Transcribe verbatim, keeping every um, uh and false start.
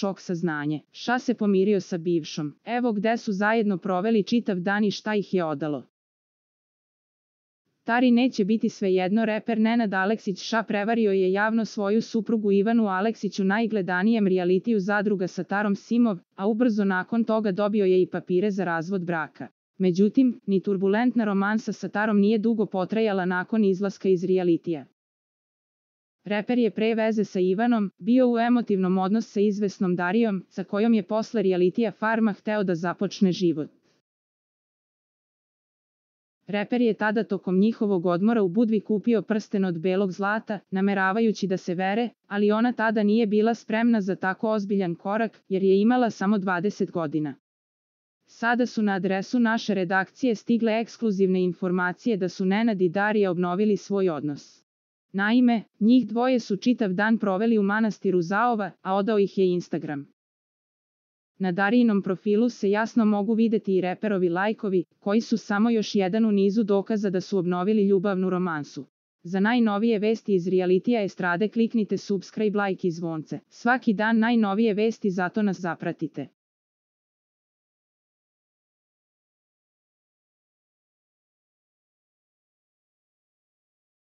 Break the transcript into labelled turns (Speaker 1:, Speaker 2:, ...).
Speaker 1: šok saznanje. Ša se pomirio sa bivšom. Evo gde su zajedno proveli čitav dan i šta ih je odalo. Tari neće biti svejedno. Reper Nenad Aleksić Ša prevario je javno svoju suprugu Ivanu Aleksić u najgledanijem realitiju Zadruga sa Tarom Simov, a ubrzo nakon toga dobio je i papire za razvod braka. Međutim, ni turbulentna romansa sa Tarom nije dugo potrajala nakon izlaska iz realitija. Reper je pre veze sa Ivanom bio u emotivnom odnosu sa izvesnom Darijom, sa kojom je posle realitija Farma hteo da započne život. Reper je tada tokom njihovog odmora u Budvi kupio prsten od belog zlata, nameravajući da se vere, ali ona tada nije bila spremna za tako ozbiljan korak, jer je imala samo dvadeset godina. Sada su na adresu naše redakcije stigle ekskluzivne informacije da su Nenad i Darija obnovili svoj odnos. Naime, njih dvoje su čitav dan proveli u manastiru Zaova, a odao ih je Instagram. Na Darijinom profilu se jasno mogu videti i reperovi lajkovi, koji su samo još jedan u nizu dokaza da su obnovili ljubavnu romansu. Za najnovije vesti iz realitija estrade kliknite subscribe, like i zvonce. Svaki dan najnovije vesti, zato nas zapratite.